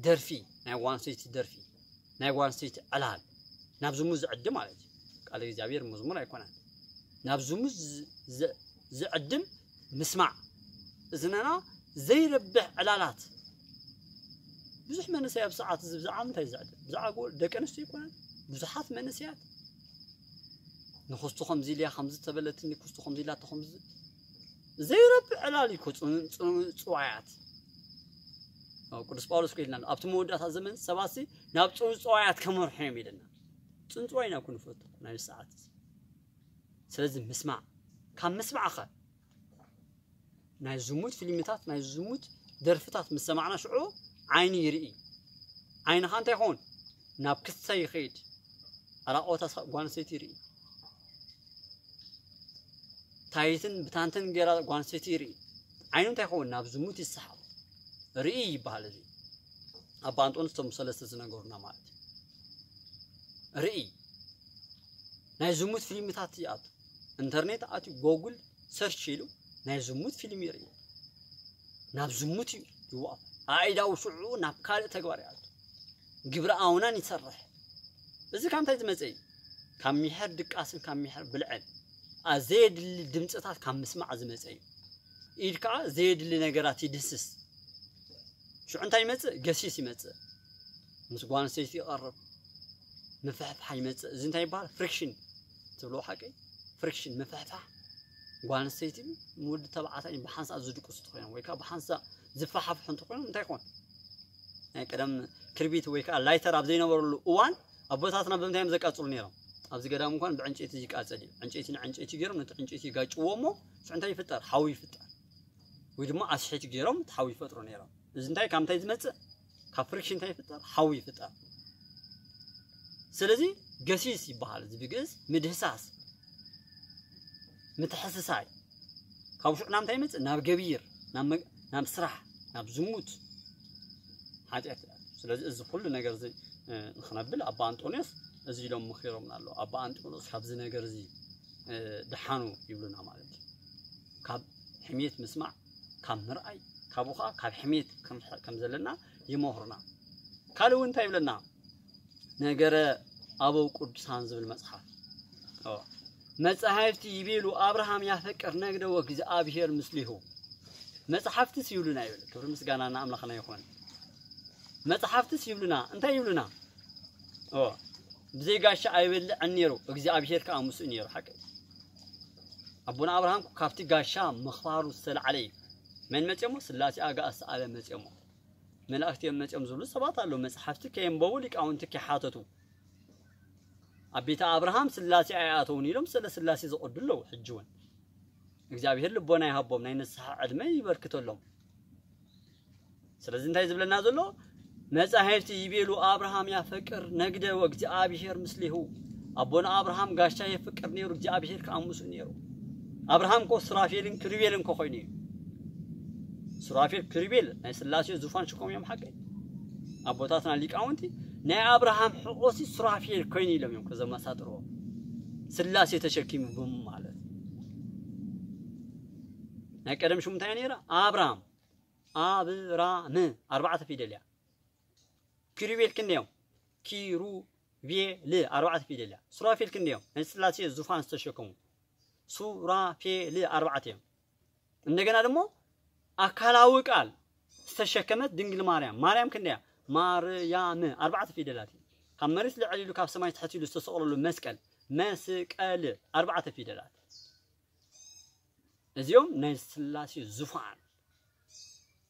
ደርፊ፣ ናይ ጓል ኣንስተይቲ ደርፊ፣ ናይ ጓል ኣንስተይቲ ዕላል ናብ ዝሙት ዝዕድም ማለት እዩ። ቃል እግዚኣብሔር መዝሙር ኣይኮነን። ናብ ዝሙት ዝ- ዝ- ዝዕድም ምስማዕ፣ እዝንና ዘይረብሕ ዕላላት። ብዙሕ መንእሰይ ኣብ ሰዓት እዚ ብዛዕባ ምንታይ ዝዕድም? ብዛዕባ ጎ- ደቂ ኣንስትዮ ኣይኮነን። ብዙሓት መንእሰያት ንክስቱ ከምዚ ኢልያ ከምዚ ተበለትኒ ክስቱ ከምዚ ኢላቶ ከምዚ ዘይረብሕ ዕላል እዩ እኮ ጽን- ጽን- ጽዋያት። ኣብ ቅዱስ ጳውሎስ እኮ ኢልና ኣሎ፣ ኣብቲ መወዳእታ ዘመን ሰባትሲ ናብ ጽንጽዋያት ከመርሑ እዮም ኢልና። ጽንጽዋይ ኢና እኮ ንፈቱ ናይ ሰዓት እዚ። ስለዚ ምስማዕ፣ ካብ ምስማዕኸ ናይ ዝሙት ፊልምታት ናይ ዝሙት ደርፍታት ምስ ሰማዕና ሽዑ ዓይኒ ይርኢ። ዓይንኻ እንታይ ይኸውን? ናብ ክሰ ይኸይድ። ኣራቆታ ጓል ኣንስተይቲ ይርኢ። ታይትን ብታንትን ገይራ ጓል ኣንስተይቲ ይርኢ። ዓይኑ እንታይ ይኸውን? ናብ ዝሙት ይሰሓብ። ርኢ ይበሃል እዚ። ኣባ እንጦንስ እቶም ሰለስተ ዝነገሩና ማለት እዩ። ርኢ ናይ ዝሙት ፊልምታት ይኣቱ። ኢንተርኔት ኣትዩ ጎጉል ሰርች ኢሉ ናይ ዝሙት ፊልም ይርኢ። ናብ ዝሙት እዩ ይዋእ። ኣእዳው ሽዑ ናብ ካልእ ተግባር ይኣቱ። ግብረ ኣውናን ይሰርሕ። እዚ ካብ እንታይ ዝመፀ እዩ? ካብ ሚሕር ድቃስን ካብ ሚሕር ብልዕን፣ ኣ- ዘየድሊ ድምፅታት ካብ ምስማዕ ዝመፀ እዩ። ኢድ ከዓ ዘየድሊ ነገራት ይድህስስ። ሽዑ እንታይ ይመፅእ? ገሲስ ይመፅእ። ምስ ጓል ኣንስተይቲ ይቐርብ፣ ምፍሕፋሕ ይመፅእ። እዚ እንታይ ይበሃል? ፍሪክሽን ትብልዎ ሓቂ? ፍሪክሽን፣ ምፍሕፋሕ። ጓል ኣንስተይቲ ወዲ ተባዕታይ ብሓንሳእ ዝድቅሱ እንተኾይኖም ወይ ከዓ ብሓንሳእ ዝፈሓፍሑ እንተኾይኖም እንታይ ይኾን? ናይ ቀደም ክርቢት ወይ ከዓ ላይተር ኣብ ዘይነበረሉ እዋን ኣቦታትና ብምንታይ እዮም ዘቃፅሉ ነይሮም? ኣብዚ ገዳም እንኳን ብዕንጨይቲ ይቃፀል እዩ። ዕንጨይቲ ንዕንጨይቲ ገይሮም ነቲ ዕንጨይቲ ይጋጭዎ እሞ ሽዑ እንታይ ይፍጠር? ሓዊ ይፍጠር። ወይ ድማ ኣስሒት ገይሮም እቲ ሓዊ ይፈጥሩ ነይሮም። እዚ እንታይ ካብ እንታይ ዝመፅእ? ካብ ፍሪክሽን እንታይ ይፍጠር? ሓዊ ይፍጠር። ስለዚ ገሲስ ይበሃል እዚ ብግእዝ ምድህሳስ፣ ምትሕስሳይ። ካብ ሽዑ ናብ እንታይ ይመፅእ? ናብ ገቢር፣ ናብ መግ- ናብ ስራሕ፣ ናብ ዝሙት፣ ሓጢኣት። ስለዚ እዚ ኩሉ ነገር እዚ ንክነብል ኣባ ኣንጦንዮስ እዚ ኢሎም ምኺሮምና ኣለዉ። ኣባ ኣንጦንዮስ ካብዚ ነገር እዚ ድሓኑ ይብሉና ማለት እዩ። ካብ ሕሜት ምስማዕ፣ ካብ ምርኣይ፣ ካብኡ ከዓ ካብ ሕሜት ከም ዘለና ይመኽሩና። ካልእ እውን እንታይ ይብለና? ነገረ ኣበው ቅዱሳን ዝብል መፅሓፍ መፃሕፍቲ ይቤሉ ኣብርሃም ያፈቅር ነግደ ወእግዚኣብሔር ምስሊሁ። መፅሓፍትስ ይብሉና ይብል። ክብሪ ምስጋና ንኣምላኽና ይኹን። መፅሓፍትስ ይብሉና እንታይ ይብሉና? ብዘይ ጋሻ ኣይበልዕን ነይሩ፣ እግዚኣብሔር ከዓ ምስኡ ነይሩ። ሓቂ ኣቦና ኣብርሃም ካብቲ ጋሻ ምኽባሩ ዝተላዕለ እዩ። መን መፅኦሞ? ስላሴ ኣጋእዝተ ዓለም መፅኦሞ። መላእክቲ እዮም መፅኦም ዝብሉ ሰባት ኣለዉ። መፅሓፍቲ ከየንበቡ ሊቃውንቲ ከይሓተቱ ኣብ ቤተ ኣብርሃም ስላሴ ኣይኣተውን ኢሎም ስለ ስላሴ ዝቐዱ ኣለዉ። ሕጂ እውን እግዚኣብሔር ልቦና ይሃቦም፣ ናይ ንስሓ ዕድመ ይበርክተሎም። ስለዚ እንታይ ዝብለና ዘሎ? መጻሕፍቲ ይቤሉ ኣብርሃም ያፈቅር ነግደ ወእግዚኣብሔር ምስሌሁ። ኣቦና ኣብርሃም ጋሻ የፍቅር ነይሩ፣ እግዚኣብሔር ከዓ ምስኡ ነይሩ። ኣብርሃም እኮ ሱራፌልን ክሩቤልን እኮ ኮይኑ እዩ። ሱራፌል ክሩቤል ናይ ስላሴ ዙፋን ሽኮም እዮም። ሓቀይ ኣቦታትና ሊቃውንቲ ናይ ኣብርሃም ሕቆሲ ሱራፌል ኮይኑ ኢሎም እዮም ከዘመሳጥርዎ። ስላሴ ተሸኪሙ ብም ማለት ናይ ቀደም ሽሙ እንታይ ነይራ? ኣብራም ኣብራም ኣርባዕተ ፊደል እያ። ኪሩቤል ክንደዮም? ኪሩቤል ኣርባዕተ ፊደል እያ። ሱራፌል ክንደዮም? ናይ ስላሴ ዙፋን ዝተሸከሙ ሱራፌል ኣርባዕተ እዮም። እንደገና ደሞ ኣካላዊ ቃል ዝተሸከመት ድንግል ማርያም። ማርያም ክንደያ? ማርያም ኣርባዕተ ፊደላት እዩ። ካብ መሬት ልዕል ኢሉ ካብ ሰማይ ትሕት ኢሉ ዝተሰቕለሉ መስቀል መስቀል ኣርባዕተ ፊደላት። እዚኦም ናይ ስላሴ ዙፋን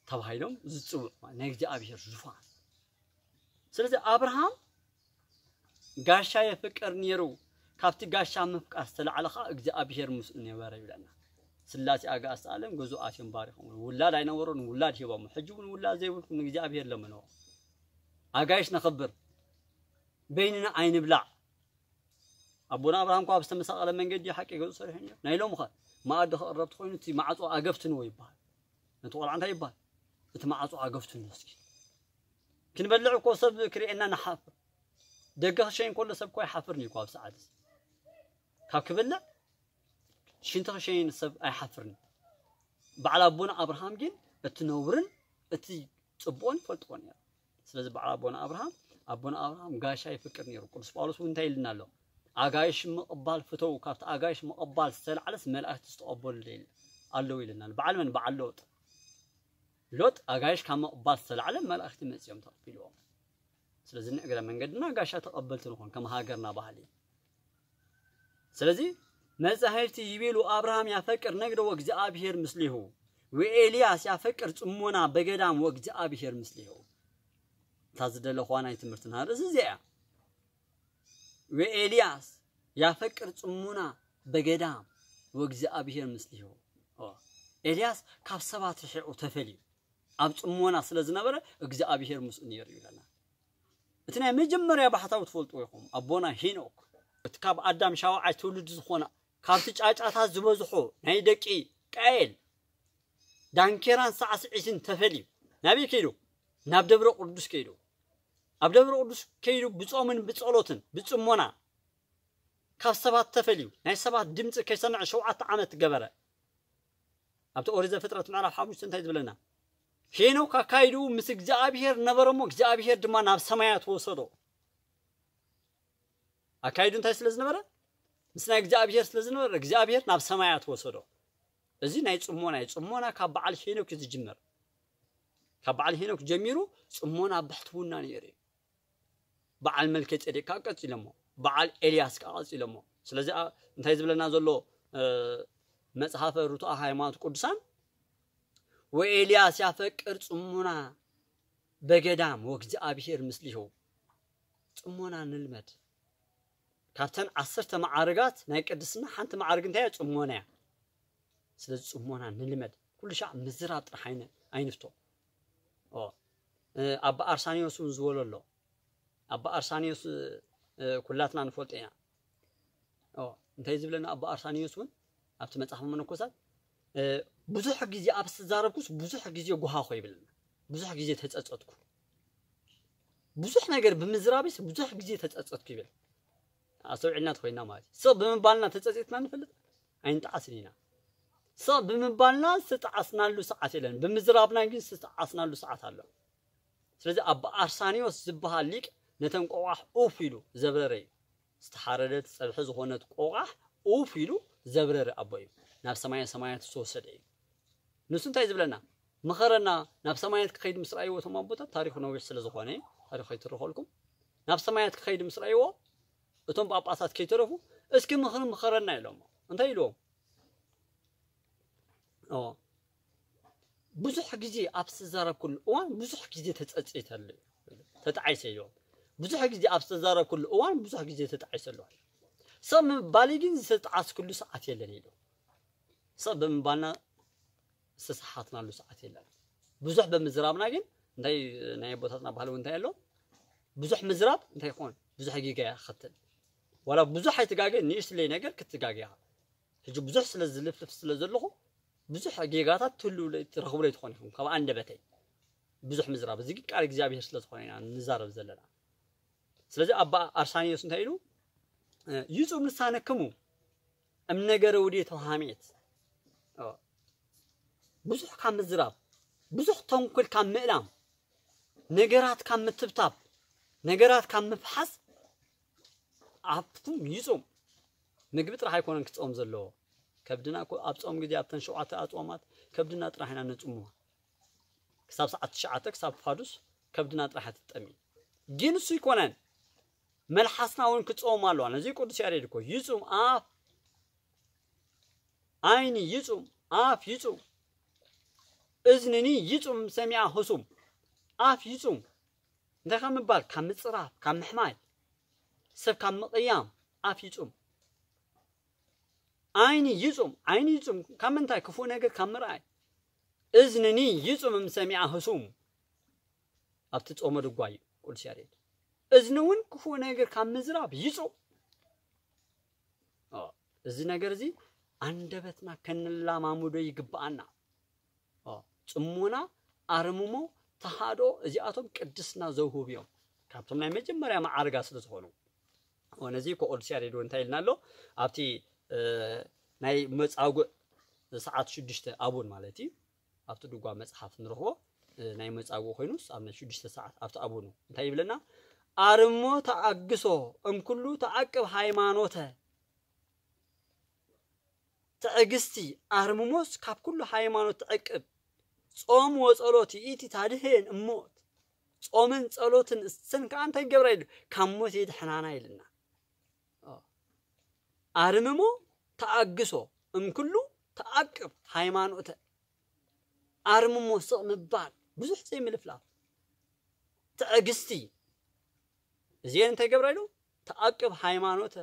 ተባሂሎም ዝፅውዑ ናይ እግዚኣብሔር ዙፋን። ስለዚ ኣብርሃም ጋሻ የፍቅር ነይሩ፣ ካብቲ ጋሻ ምፍቃር ዝተላዕለ ከዓ እግዚኣብሔር ምስኡ ነበረ ይብለና። ስላሴ ኣጋእዝተ ዓለም ገዝኡ ኣትዮም ባሪኾም። ውላድ ኣይነበሮን፣ ውላድ ሂቦም። ሕጂ እውን ውላድ ዘይብልኩም ንእግዚኣብሔር ለምንዎ። ኣጋይሽ ነኽብር፣ በይንና ኣይንብላዕ። ኣቦና ኣብርሃም እኳ ኣብ ዝተመሳቐለ መንገዲ ሓቂ ገዝኡ ሰሪሑ ነይሩ። ናይ ሎሚ ኸ መኣዲ ክቕረብ ተኾይኑ እቲ ማዕጾ ኣገፍትንዎ ይበሃል። ነቲ ቆልዓ እንታይ ይበሃል? እቲ ማዕጾ ኣገፍትንዎ እስኪ። ክንበልዕ እኮ ሰብ ክርእየና ንሓፍር። ደገ ክሸይን ከሎ ሰብ እኮ ኣይሓፍርን እዩ እኮ ኣብ ሰዓት እዚ። ካብ ክበልዕ ሽንቲ ክሸይን ሰብ ኣይሓፍርን። በዓል ኣቦና ኣብርሃም ግን እቲ ነውርን እቲ ጽቡቕን ይፈልጥዎ ነይሩ። ስለዚ በዓል ኣቦና ኣብርሃም ኣቦና ኣብርሃም ጋሻ ይፍቅር ነይሩ። ቅዱስ ጳውሎስ እውን እንታይ ኢልና ኣሎ? ኣጋይሽ ምቕባል ፍተው፣ ካብቲ ኣጋይሽ ምቕባል ዝተላዕለስ መላእክቲ ዝተቐበሉ ኣለዉ ኢልና። በዓል መን? በዓል ሎጥ። ሎጥ ኣጋይሽ ካብ ምቕባል ዝተላዕለ መላእክቲ መጺኦም ተቐቢልዎም። ስለዚ ንእግረ መንገድና ጋሻ ተቐበልቲ ንኾን ከም ሃገርና ባህሊ። ስለዚ መጻሕፍቲ ይቤሉ ኣብርሃም ያፈቅር ነግደ ወእግዚኣብሔር ምስሊሁ ወኤልያስ ያፈቅር ጽሞና በገዳም ወእግዚኣብሔር ምስሊሁ። እታ ዝደለኹዋ ናይ ትምህርትና ርእሲ እዚኣ እያ። ወኤልያስ ያፈቅር ጽሞና በገዳም ወእግዚኣብሔር ምስሊሁ። ኤልያስ ካብ ሰባት ርሒቑ ተፈልዩ ኣብ ጽሞና ስለ ዝነበረ እግዚኣብሔር ምስኡ ነይሩ ይብለና። እቲ ናይ መጀመርያ ባሕታዊ ትፈልጥዎ ኢኹም፣ ኣቦና ሄኖክ። እቲ ካብ ኣዳም ሻውዓይ ትውልዲ ዝኾነ ካብቲ ጫጫታት ዝበዝሖ ናይ ደቂ ቃኤል ዳንኬራን ሳዕስዒትን ተፈልዩ ናበይ ከይዱ? ናብ ደብረ ቅዱስ ከይዱ። ኣብ ደብረ ቅዱስ ከይዱ ብጾምን ብጸሎትን ብጽሞና ካብ ሰባት ተፈልዩ ናይ ሰባት ድምፂ ከይሰምዐ ሸውዓተ ዓመት ገበረ። ኣብቲ ኦሪት ዘፍጥረት ምዕራፍ ሓሙሽተ እንታይ ዝብለና? ሄኖክ ኣካይድኡ ምስ እግዚኣብሔር ነበረ እሞ እግዚኣብሔር ድማ ናብ ሰማያት ወሰዶ። ኣካይዱ እንታይ ስለ ዝነበረ? ምስ ናይ እግዚኣብሔር ስለ ዝነበረ እግዚኣብሔር ናብ ሰማያት ወሰዶ። እዚ ናይ ጽሞና እዩ። ጽሞና ካብ በዓል ሄኖክ እዩ ዝጅመር። ካብ በዓል ሄኖክ ጀሚሩ ጽሞና ብሕትውና ነይሩ እዩ። በዓል መልከ ጼዴቅ ከዓ ቀጺሎሞ፣ በዓል ኤልያስ ከዓ ቀጺሎሞ። ስለዚ እንታይ ዝብለና ዘሎ መጽሓፈ ርቱዐ ሃይማኖት ቅዱሳን? ወኤልያስ ያፈቅር ጽሙና በገዳም ወእግዚኣብሔር ምስሊሁ። ጽሞና ንልመድ። ካብተን ዓሰርተ መዓርጋት ናይ ቅድስና ሓንቲ መዓርግ እንታይ እያ? ጽሞና እያ። ስለዚ ጽሞና ንልመድ። ኩሉ ሻዕ ምዝራብ ጥራሕ ኣይነ- ኣይንፍቶ። ኦ፣ እ፣ ኣባ ኣርሳኒዮስ እውን ዝበሎ ኣሎ። ኣባ ኣርሳኒዮስ፣ እ፣ ኩላትና ንፈልጦ ኢና። ኦ፣ እንታይ ዝብለና ኣባ ኣርሳኒዮስ እውን ኣብቲ መጽሓፍ መነኮሳት፣ እ፣ ብዙሕ ግዜ ኣብ ዝተዛረብኩስ ብዙሕ ግዜ ጎሃኹ ይብለና። ብዙሕ ግዜ ተጸጸትኩ። ብዙሕ ነገር ብምዝራብስ ብዙሕ ግዜ ተጸጸትኩ ይብል። ኣስተውዒልና ተኾይና ማለት እዩ። ስቕ ብምባልና ተጸጺትና ንፈልጥ ኣይንጠዓስን ኢና። ስቕ ብምባልና ዝተጠዓስናሉ ሰዓት የለን። ብምዝራብና ግን ዝተጠዓስናሉ ሰዓት ኣሎ። ስለዚ ኣባ ኣርሳኒዎስ ዝበሃል ሊቅ ነተን ቆቋሕ ኡፍ ኢሉ ዘብረረ እዩ። ዝተሓረደት ጸብሒ ዝኾነት ቆቋሕ ኡፍ ኢሉ ዘብረረ ኣቦ እዩ። ናብ ሰማየ ሰማያት ዝተወሰደ እዩ። ንሱ እንታይ ዝብለና? ምኸረና፣ ናብ ሰማያት ክኸይድ ምስ ረኣይዎ እቶም ኣቦታት፣ ታሪኹ ነዊሕ ስለ ዝኾነ፣ ታሪኹ ከይትረኸልኩም፣ ናብ ሰማያት ክኸይድ ምስ ረኣይዎ እቶም ጳጳሳት ከይተረፉ፣ እስኪ ምኽሪ ምኸረና ኢሎሞ። እንታይ ኢልዎም? ኦ፣ ብዙሕ ግዜ ኣብ ዝተዛረብኩሉ እዋን ብዙሕ ግዜ ተጸጽይተሉ፣ ተጣዒሰ ኢልዎም። ብዙሕ ግዜ ኣብ ዝተዛረብኩሉ እዋን ብዙሕ ግዜ ተጣዒሰ ኣለኹ። ሰብ ምባለይ ግን ዝተጣዓስኩሉ ሰዓት የለን ኢሉ። ሰብ ብምባልና ዝተሰሓትናሉ ሰዓት የለን። ብዙሕ ብምዝራብና ግን እንታይ ናይ ኣቦታትና ባህሊ እውን እንታይ ኣሎ? ብዙሕ ምዝራብ እንታይ ይኾን? ብዙሕ ጌጋ የኸትል። ዋላ ብዙሕ ኣይትጋገ፣ ንእሽትለይ ነገር ክትጋገ ኢኻ። ሕጂ ብዙሕ ስለ ዝልፍልፍ ስለ ዘለኹ ብዙሕ ጌጋታት ትህሉ ትረኽቡ ትኾኑ ኢኹም ካብ ኣንደበተይ። ብዙሕ ምዝራብ እዚ ቃል እግዚኣብሔር ስለ ዝኾነ ኢና ንዛረብ ዘለና። ስለዚ ኣባ ኣርሳኒዮስ እንታይ ኢሉ? እ፣ ይጹም ልሳነክሙ እም ነገረ ውዴት ወሃሜት። ኦ፣ ብዙሕ ካብ ምዝራብ፣ ብዙሕ ተንኮል ካብ ምእላም፣ ነገራት ካብ ምትብታብ፣ ነገራት ካብ ምፍሓስ ኣፍኩም ይጹም። ምግቢ ጥራሕ ኣይኮነን ክጾም ዘለዎ። ከብድና እኮ ኣብ ጾም ግዜ ኣብተን ሸውዓተ ኣጽዋማት ከብድና ጥራሕ ኢና ነጽምዋ። ክሳብ ሰዓት ትሽዓተ ክሳብ ፋዱስ ከብድና ጥራሕ ትጠሚ። ግን እሱ ይኮነን። መልሓስና እውን ክጾም ኣለዋ። ነዚ ቅዱስ ያሬድ እኮ ይጹም ኣፍ፣ ዓይኒ ይጹም፣ ኣፍ ይጹም፣ እዝንኒ ይጹም ሰሚዓ ህሱም። ኣፍ ይጹም። እንታይ ካብ ምባል? ካብ ምጽራፍ፣ ካብ ምሕማይ፣ ሰብ ካብ ምቕያም ኣፍ ይጹም። ዓይኒ ይጹም፣ ዓይኒ ይጹም ካብ ምንታይ? ክፉእ ነገር ካብ ምርኣይ። እዝንኒ ይጹም እም ሰሚዓ ህሱም። ኣብቲ ጾመ ድጓ እዩ ቅዱስ ያሬድ። እዝኒ እውን ክፉእ ነገር ካብ ምዝራብ ይጹም። ኦ፣ እዚ ነገር እዚ ኣንደበትና ከንላማምዶ ይግብኣና። ኦ፣ ጽሞና፣ ኣርምሞ፣ ተሃድኦ እዚኣቶም ቅድስና ዘውህቡ እዮም። ካብቶም ናይ መጀመርያ መዓርጋ ስለ ዝኾኑ። ኦ፣ ነዚ እኮ ቅዱስ ያሬድ እውን እንታይ ኢልና ኣሎ? ኣብቲ፣ እ፣ ናይ መጻጉዕ ሰዓት ሽዱሽተ ኣቡን ማለት እዩ። ኣብቲ ድጓ መጽሓፍ ንረኽቦ፣ እ፣ ናይ መጻጉዕ ኮይኑስ ኣብ ናይ ሽዱሽተ ሰዓት ኣብቲ ኣቡኑ እንታይ ይብለና? ኣርሞ ተኣግሶ እምኩሉ ተዓቅብ ሃይማኖተ። ትዕግስቲ ኣርምሞስ ካብ ኩሉ ሃይማኖት ትዕቅብ። ጾም ወጸሎት ይእቲ ታድህን እሞት። ጾምን ጸሎትን እሰን ከኣ እንታይ ይገብራ ኢሉ? ካብ ሞት የድሕናና ኢልና። ኦ። ኣርምሞ ተኣግሶ እምኩሉ ተዓቅብ ሃይማኖተ። ኣርምሞ ስቕ ምባል፣ ብዙሕ ዘይምልፍላፍ። ትዕግስቲ። እዚአን እንታይ ይገብራ ኢሉ? ተዓቅብ ሃይማኖተ፣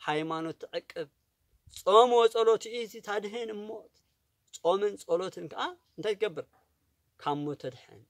ሃይማኖት ትዕቅብ። ጾም ወጸሎት ይእቲ ታድህን እሞት። ጾምን ጸሎትን ከኣ እንታይ ትገብር? ካብ ሞት ተድሕን።